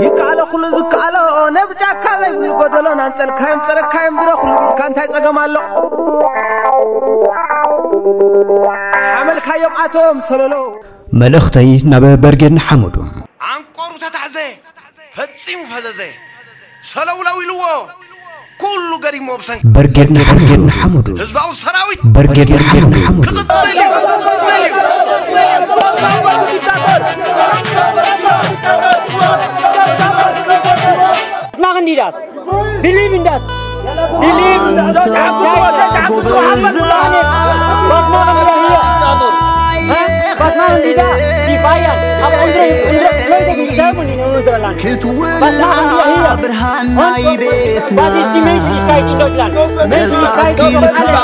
ይከኣሎ ኩሉ ዝከኣሎ ነብ ጫካ ዘይብሉ ጎደሎ ናንጸልካዮም ጸረካዮም ድሮ ኩሉ ቢልካ እንታይ ጸገም ኣሎ ሓመልካዮም ኣቶም ሰለሎ። መልእኽተይ ናብ በርጌድ ንሓመዱ። ዓንቆሩ ተታሕዘ፣ ፈጺሙ ፈዘዘ። ሰለውለው ኢልዎ፣ ኩሉ ገዲሞ ብሰንኪ በርጌድ ንሓመዱ። ህዝባዊ ሰራዊት በርጌድ ንሓመዱ። ክቕጽል እዩ፣ ክቕጽል እዩ። Machen die das? Believe in das. Believe in das. Was machen wir hier? Hä? Was machen die da? Die feiern. Aber unsere, unsere Leute, die sterben in unserem Land. Was machen wir hier? Und was ist die Menschlichkeit in Deutschland? Menschlichkeit für alle.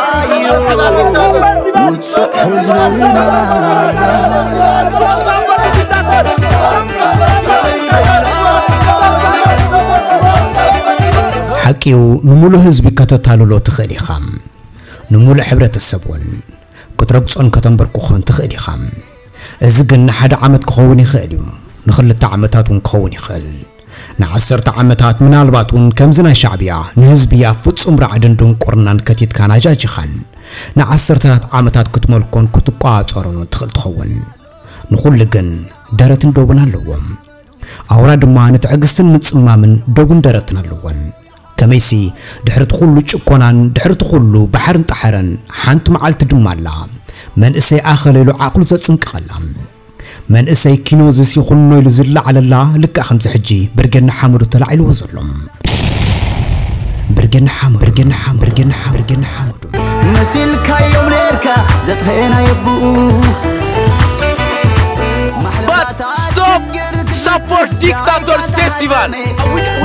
ሓቂኡ፣ ንምሉእ ህዝቢ ከተታልሎ ትኽእል ኢኻ። ንምሉእ ሕብረተሰብ እውን ክትረግጾን ከተንበርክኾን ትኽእል ኢኻ። እዚ ግን ንሓደ ዓመት ክኸውን ይኽእል እዩ፣ ንኽልተ ዓመታት እውን ክኸውን ይኽእል። ንዓሰርተ ዓመታት፣ ምናልባት እውን ከምዚ ናይ ሻዕብያ ንህዝቢ ኣብ ፍጹም ራዕድን ድንቁርናን ከቲትካን ኣጃጂኻን ንዓሰርተታት ዓመታት ክትመልኮን ክትቋጸሮን እውን ትኽእል ትኸውን። ንኹሉ ግን ደረትን ዶብን ኣለዎም። ኣውራ ድማ ንትዕግስትን ምጽማምን ዶብን ደረትን ኣለወን። ከመይሲ ድሕሪ እቲ ኩሉ ጭቆናን ድሕሪ እቲ ኩሉ ባሕርን ጣሕርን ሓንቲ መዓልቲ ድማ ኣላ። መንእሰይ ኣኸለ ኢሉ ዓቕሉ ዘጽንቅቐላ። መንእሰይ ኪኖዝስ ይኹኖ ኢሉ ዝለዓለላ ልክዕ ከምዚ ሕጂ ብርጌድ ንሓመዱ ተላዒልዎ ዘሎ። ብርጌድ ንሓመዱ፣ ብርጌድ ንሓመዱ፣ ብርጌድ ንሓመዱ፣ ብርጌድ ንሓመዱ። መሲልካዮም ነርካ ዘጥፈኤና የብኡ But stop support dictators festival.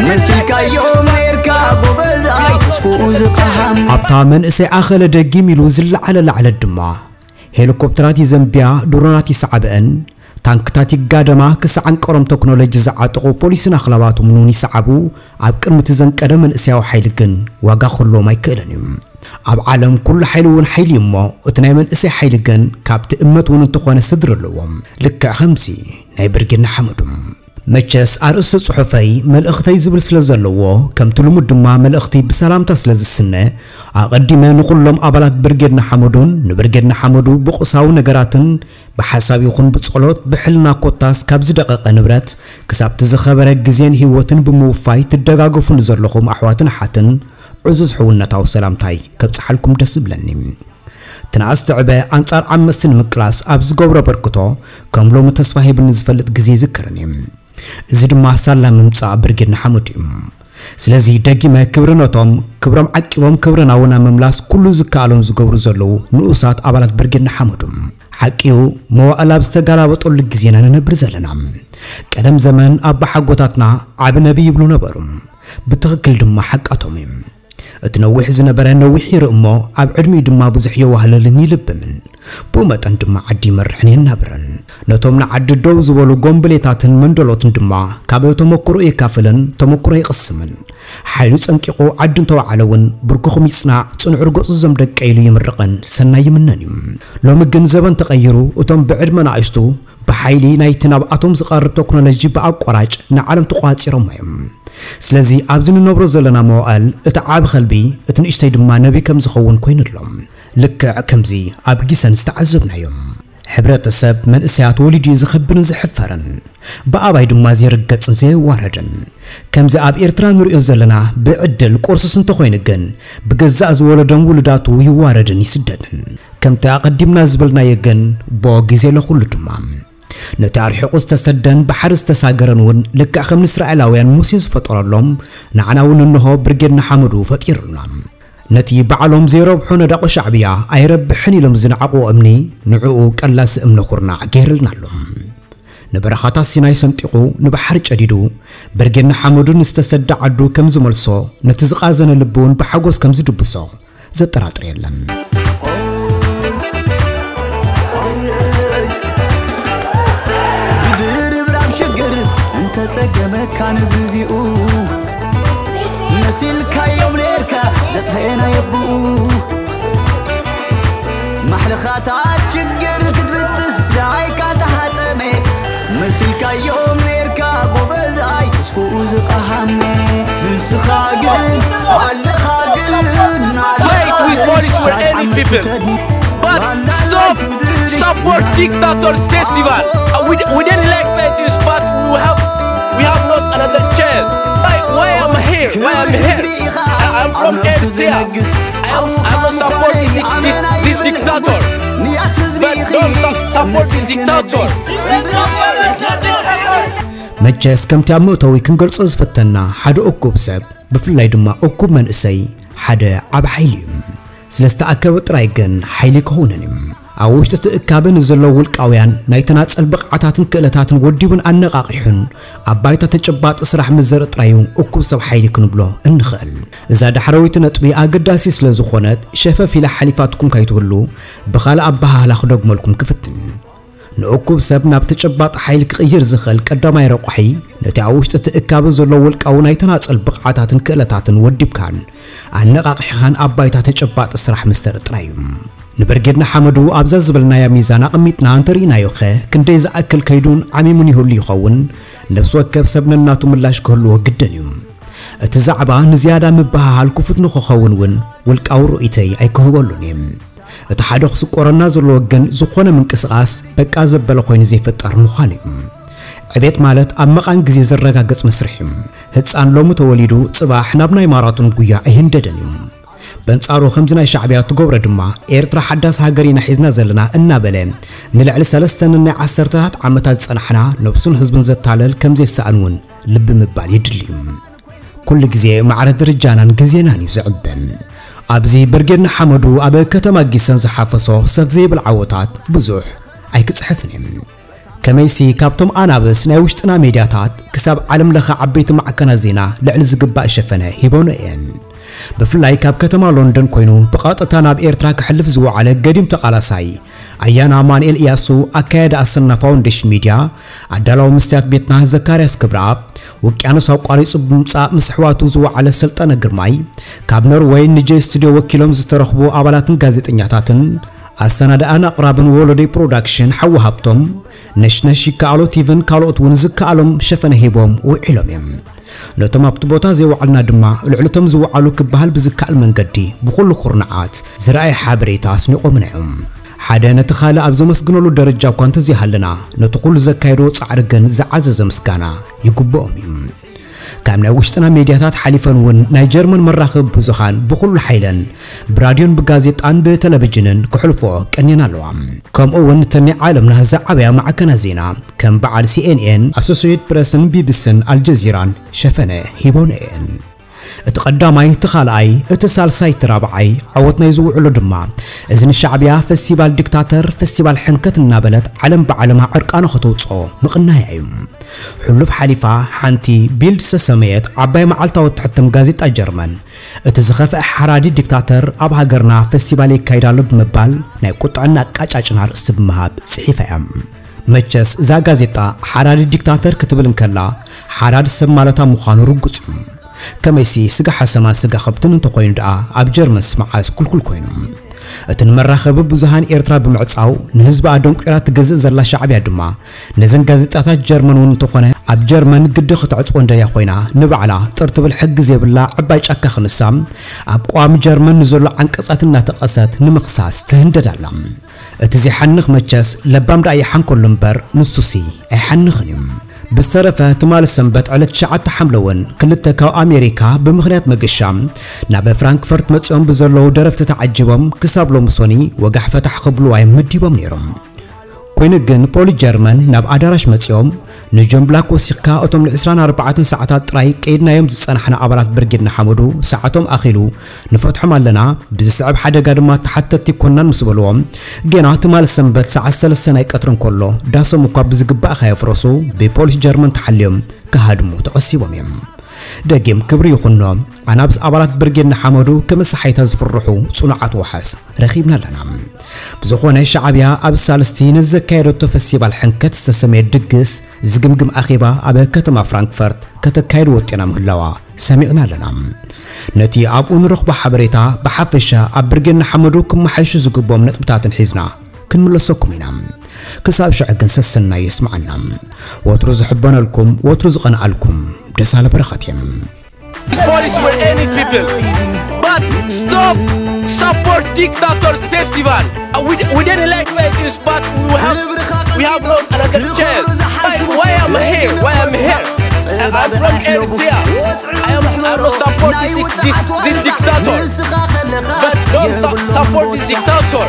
መሲልካዮም ነርካ ጎበዝ ኣይትስፍኡ ዝጠሃም ኣብታ መንእሰይ ኣኸለ ደጊም ኢሉ ዝለዓለ ላዕለት ድማ ሄሊኮፕተራት ይዘንብያ፣ ድሮናት ይሰዓብአን፣ ታንክታት ይጋደማ፣ ክሳዕ ኣንቀሮም ተክኖሎጂ ዝዓጠቑ ፖሊስን ኣኽላባቶም እውን ይሰዓቡ። ኣብ ቅድሚ እቲ ዘንቀደ መንእሰያዊ ሓይሊ ግን ዋጋ ክህልዎም ኣይክእልን እዩ። ኣብ ዓለም ኩሉ ሓይሊ እውን ሓይሊ እዩ እሞ፣ እቲ ናይ መንእሰይ ሓይሊ ግን ካብቲ እመት እውን እንተኾነ ስድሪ ኣለዎ። ልክዕ ከምዚ ናይ ብርጌድ ንሓመዱ። መቸስ ኣርእስቲ ጽሑፈይ መልእኽተይ ዝብል ስለ ዘለዎ፣ ከምቲ ልሙድ ድማ መልእኽቲ ብሰላምታ ስለ ዝስነ፣ ኣቐዲመ ንኹሎም ኣባላት ብርጌድ ንሓመዱን ንብርጌድ ንሓመዱ ብቑሳዊ ነገራትን ብሓሳብ ይኹን ብጸሎት ብሕልና ኮታስ ካብ ዝደቐቐ ንብረት ክሳብ እቲ ዝኸበረ ግዜን ህይወትን ብምውፋይ ትደጋገፉ ንዘለኹም ኣሕዋትን ኣሓትን ዕዙዝ ሕውነታዊ ሰላምታይ ከብጽሓልኩም ደስ ዝብለኒ። ትንኣስ ትዕበ ኣንጻር ዓመጽቲ ንምቅላስ ኣብ ዝገብሮ ኣበርክቶ ከም ሎሚ ተስፋ ሂብኒ ዝፈልጥ ግዜ ይዝክርን እዩ። እዚ ድማ ሳላ ምምጻእ ብርጌድ ንሓመዱ እዩ። ስለዚ ደጊመ ክብሪ ነቶም ክብሮም ዓቂቦም ክብርና እውን ኣብ ምምላስ ኩሉ ዝከኣሎም ዝገብሩ ዘለዉ ንኡሳት ኣባላት ብርጌድ ንሓመዱ። ሓቂኡ መዋእል ኣብ ዝተገላበጠሉ ግዜና ንነብር ዘለና። ቀደም ዘመን ኣባሓጎታትና ዓቢ ነቢ ይብሉ ነበሩ። ብትኽክል ድማ ሓቃቶም እዩ። እቲ ነዊሕ ዝነበረ ነዊሕ ይርኢ እሞ ኣብ ዕድሚኡ ድማ ብዙሕ የዋህለልን ይልብምን። ብኡ መጠን ድማ ዓዲ ይመርሕን የናብርን። ነቶም ንዓዲ ደው ዝበሉ ጎምብሌታትን መንደሎትን ድማ ካብ ተመክሮ የካፍልን ተመክሮ ይቕስምን። ሓይሉ ጸንቂቑ ዓዲ እንተወዓለ እውን ብርክኹም ይጽናዕ፣ ጽንዑ ርገጹ ዘም ደቀ ኢሉ ይምርቕን ሰናይ ይምነን እዩ። ሎሚ ግን ዘበን ተቐይሩ እቶም ብዕድመ ንኣሽቱ ብሓይሊ ናይቲ ናብኣቶም ዝቐርብ ተክኖሎጂ ብኣቋራጭ ንዓለም ተቋጺሮሞ እዮም። ስለዚ ኣብዚ ንነብሮ ዘለና መዋእል እቲ ዓቢ ከልቢ እቲ ንእሽተይ ድማ ነቢ ከም ዝኸውን ኮይኑ ኣሎ። ልክዕ ከምዚ ኣብ ጊሰን ዝተዓዘብናዮ። ሕብረተሰብ መንእሰያት ወሊዱ እዩ ዝኸብርን ዝሕፈርን። ብኣባይ ድማ ዘይርገጽን ዘየዋረድን። ከምዚ ኣብ ኤርትራ ንርእዮ ዘለና ብዕድል ቁርሱስ እንተኾይኑ ግን ብገዛእ ዝወለዶም ውሉዳቱ ይዋረድን ይስደድን። ከምቲ ኣቐዲምና ዝበልናዮ ግን ብኡ ግዜ ለኹሉ ድማ። ነቲ ኣርሒቑ ዝተሰደን ባሕሪ ዝተሳገረን እውን ልክዕ ከም ንእስራኤላውያን ሙሴ ዝፈጠረሎም ንዓና እውን እንሆ ብርጌድ ንሓመዱ ፈጢሩልና። ነቲ ባዕሎም ዘይረብሑ ነዳቑ ሻዕብያ ኣይረብሕን ኢሎም ዝነዓቑዎ እምኒ ንዕኡ ቀላሲ እምኒ ኩርናዕ ገይርልና ኣሎ። ንበረኻታት ሲናይ ሰንጢቑ ንባሕሪ ጨዲዱ ብርጌድ ንሓመዱ ንዝተሰደ ዓዱ ከም ዝመልሶ ነቲ ዝቓዘነ ልቢ እውን ብሓጎስ ከም ዝድብሶ ዘጠራጥር የለን። ብድርብራብ ሽግር እንተጸገመካ ንግዚኡ መሲልካዮም ኔርካ ዘጥፈኤና የብኡ ማሕለኻታት ሽግር ክትብጥስ ደኣይ for any people. But stop support dictators festival. Uh, We, we didn't like Fetish, but we have we have not another chance. Why why am I here? Why am I here? I, I'm from Eritrea. I am I am not support this, this, this dictator. But don't su- support this dictator. መቸስ ከምቲ ኣብ መእተዊ ክንገልጾ ዝፈተና ሓደ እኩብ ሰብ ብፍላይ ድማ እኩብ መንእሰይ ሓደ ዓብ ሓይሊ እዩ። ስለ ዝተኣከበ ጥራይ ግን ሓይሊ ክኸውንን እዩ። ኣብ ውሽጢ እቲ እካበ ንዘለዉ ውልቃውያን ናይ ተናጸል ብቕዓታትን ክእለታትን ወዲቡን ኣነቓቒሑን ኣብ ባይታ ተጨባጢ ስራሕ ምስ ዘርኢ ጥራይ እዩ እኩብ ሰብ ሓይሊ ክንብሎ እንኽእል። እዛ ዳሕረወይቲ ነጥቢ ኣገዳሲ ስለ ዝኾነት ሸፈፍ ኢላ ሓሊፋትኩም ካይትህሉ ብኻልእ ኣበሃህላ ክደግመልኩም ክፍትን። ንእኩብ ሰብ ናብ ተጨባጢ ሓይሊ ክቕይር ዝኽእል ቀዳማይ ረቋሒ ነቲ ኣብ ውሽጢ እቲ እካበ ዘሎ ውልቃዊ ናይ ተናጸል ብቕዓታትን ክእለታትን ወዲብካን ኣነቓቒሕኻን ኣብ ባይታ ተጨባጢ ስራሕ ምስተር ጥራይ እዩ። ንብርጌድ ንሓመዱ ኣብዛ ዝበልናያ ሚዛን ኣቐሚጥና እንተርኢናዮኸ ክንደይ ዝኣክል ከይዱን ዓሚሙን ይህሉ ይኸውን? ነብሲ ወከፍ ሰብ ነናቱ ምላሽ ክህልዎ ግድን እዩ። እቲ ዛዕባ ንዝያዳ ምብህሃል ክፉት ንኽኸውን እውን ውልቃዊ ርእይተይ ኣይክህበሉን እየ። እቲ ሓደ ክስቆረና ዘለዎ ግን ዝኾነ ምንቅስቓስ በቃ ዘበለ ኮይኑ ዘይፍጠር ምዃን እዩ። ዕቤት ማለት ኣብ መቓን ግዜ ዝረጋገጽ መስርሕ እዩ። ህፃን ሎሚ ተወሊዱ ጽባሕ ናብ ናይ ማራቶን ጉያ ኣይህንደድን እዩ። በንጻሩ ከምዚ ናይ ሻዕብያ ትገብሮ ድማ ኤርትራ ሓዳስ ሃገር ኢና ሒዝና ዘለና እናበለ ንልዕሊ ሰለስተ ንናይ ዓሰርተታት ዓመታት ዝጸናሕና ነብሱን ህዝቡን ዘታለል ከምዘይሰኣን እውን ልቢ ምባል ይድሊ እዩ። ኩሉ ግዜ ማዕረ ደረጃናን ግዜናን እዩ ዝዕበን። ኣብዚ ብርጌድ ንሓመዱ ኣብ ከተማ ጊሰን ዝሓፈሶ ሰፍ ዘይብል ዓወታት ብዙሕ ኣይክጽሕፍን እየ። ከመይሲ ካብቶም ኣናብስ ናይ ውሽጥና ሜድያታት ክሳብ ዓለም ለኸ ዓበይቲ ማዕከናት ዜና ልዕሊ ዝግባእ ሸፈነ ሂቦነ እየን። ብፍላይ ካብ ከተማ ሎንደን ኮይኑ ብቐጥታ ናብ ኤርትራ ክሕልፍ ዝወዓለ ገዲም ተቓላሳይ ኣያና ኣማንኤል ኢያሱ ኣካያዲ ኣሰና ፋውንዴሽን ሚድያ ኣዳላዊ መስትያት ቤትና ዘካርያስ ክብረኣብ ውቅያኖስ ኣቋሪጹ ብምጻእ ምስ ኣሕዋቱ ዝወዓለ ሰልጠነ ግርማይ ካብ ኖርወይ ንጄ ስቱድዮ ወኪሎም ዝተረኽቡ ኣባላትን ጋዜጠኛታትን ኣሰናድኣን ኣቕራብን ወሎደይ ፕሮዳክሽን ሓዊ ሃብቶም ነሽነሽ ይከኣሎ ቲቪን ካልኦት እውን ዝከኣሎም ሸፈነ ሂቦም ውዒሎም እዮም። ነቶም ኣብቲ ቦታ ዘይወዓልና ድማ ልዕልቶም ዝወዓሉ ክበሃል ብዝከኣል መንገዲ ብኹሉ ኩርንዓት ዝረኣየ ሓበሬታ ኣስኒቖምና እዮም። ሓደ ነቲ ካልእ ኣብ ዘመስግነሉ ደረጃ እኳ እንተዘይሃለና ነቲ ኩሉ ዘካየድዎ ጻዕሪ ግን ዝዓዘዘ ምስጋና ይግብኦም እዩ። ካብ ናይ ውሽጥና ሜድያታት ሓሊፈን እውን ናይ ጀርመን መራኸቢ ብዙሃን ብኹሉ ሓይለን ብራድዮን ብጋዜጣን ብተለቪጅንን ክሕልፎ ቀንየን ኣለዋ። ከምኡ እውን እተን ናይ ዓለምና ዝዓበያ ማዕከናት ዜና ከም በዓል ሲኤንኤን፣ ኣሶሲየትድ ፕረስን ቢቢስን ኣልጀዚራን ሸፈነ ሂቦነ እየን። እቲ ቀዳማይ፣ እቲ ካልኣይ፣ እቲ ሳልሳይ፣ እቲ ራብዓይ ዓወት ናይ ዝውዕሎ ድማ እዚ ንሻዕብያ ፈስቲቫል ዲክታተር፣ ፈስቲቫል ሕንከት እናበለት ዓለም ብዓለማ ዕርቃና ከተውፅኦ ምቕናያ እዩ። ሕሉፍ ሓሊፋ ሓንቲ ቢልድ ዝተሰመየት ዓባይ መዓልታዊ እትሕተም ጋዜጣ ጀርመን እቲ ዝኸፍአ ሓራዲ ዲክታተር ኣብ ሃገርና ፈስቲቫል የካይድ ኣሎ ብምባል ናይ ቁጥዕና ኣቃጫጭና ኣርእስቲ ብምሃብ ጽሒፋ እያ። መቸስ እዛ ጋዜጣ ሓራዲ ዲክታተር ክትብል እንከላ ሓራዲ ሰብ ማለታ ምዃኑ ርጉጽ እዩ። ከመይሲ ስጋ ሓሰማን ስጋ ከብትን እንተኾይኑ ደኣ ኣብ ጀርመንስ መዓስ ኩልኩል ኮይኑ። እቲ ንመራኸቢ ብዙሃን ኤርትራ ብምዕጻው ንህዝቢ ኣደንቂራ ትገዝእ ዘላ ሻዕብያ ድማ ነዘን ጋዜጣታት ጀርመን እውን እንተኾነ ኣብ ጀርመን ግዲ ክትዕጽወን ደልያ ኮይና ንባዕላ ጥር ትብል ሕጊ ዘይብላ ዕባይ ጫካ ክንሳ ኣብ ቀዋሚ ጀርመን ንዘሎ ዓንቀጻት እናተቐሰት ንምኽሳስ ትህንደድ ኣላ። እቲ ዘይሓንኽ መቸስ ለባም ደኣ ይሓንከሉ እምበር ንሱሲ ኣይሓንኽን እዩ። ብዝተረፈ ትማሊ ሰንበት ዕለት ትሽዓተ ሓምለ እውን ክልተ ካብ ኣሜሪካ ብምኽንያት መገሻ ናብ ፍራንክፈርት መጺኦም ብዘለዉ ደረፍቲ ተዓጂቦም ክሳብ ሎሚ ሶኒ ወጋሕ ፈታሕ ክብሉ እዮም መዲቦም ነይሮም። ኮይኑ ግን ፖሊስ ጀርመን ናብ ኣዳራሽ መጺኦም ንጆን ብላክ ወሲኽካ እቶም ን ዕስራን ኣርባዕተን ሰዓታት ጥራይ ቀይድናዮም ዝጸናሕና ኣባላት ብርጌድ ንሓመዱ ሰዓቶም ኣኺሉ ንፈትሖም ኣለና፣ ብዝስዕብ ሓደጋ ድማ ተሓተትቲ ኣይኮናን ምስ በልዎም፣ ጌና ትማሊ ሰንበት ሰዓት ሰለስተ ናይ ቀትሪ እንከሎ ዳሶም እኳ ብዝግባእ ከየፍረሱ ብፖሊስ ጀርመን ተሓልዮም ክሃድሙ ተቐሲቦም እዮም። ደጊም ክብሪ ይኹኖ ኣናብስ ኣባላት ብርጌድ ንሓመዱ ከመሰሓይታ ዝፍርሑ ጽኑዓት ዋሓስ ረኺብና ኣለና። ብዝኾነ ሻዕብያ ኣብ ሳልስቲ ነዚ ዘካየደቶ ፈስቲቫል ሕንከት ዝተሰመየ ድግስ ዝግምግም ኣኼባ ኣብ ከተማ ፍራንክፈርት ከተካይድ ወጢና ምህላዋ ሰሚዕና ኣለና። ነቲ ኣብኡ ንረኽቦ ሓበሬታ ብሓፈሻ ኣብ ብርጌድ ንሓመዱ ክመሓየሹ ዝግብኦም ነጥብታትን ሒዝና ክንምለሰኩም ኢና። ክሳብ ሽዑ ግን ሰሰናዩ የስምዓና። ወትሩ ዝሕበነልኩም፣ ወትሩ ዝቐንኣልኩም ደሳለ በረኸት እየ። Police for any people. But stop Support Dictators Festival. Uh, we, we didn't like where it is, but we have we have no another chance. Why, why am I here? Why am I here? Uh, I'm from Eritrea. I am I am not support this, this, this dictator. But don't su- support this dictator.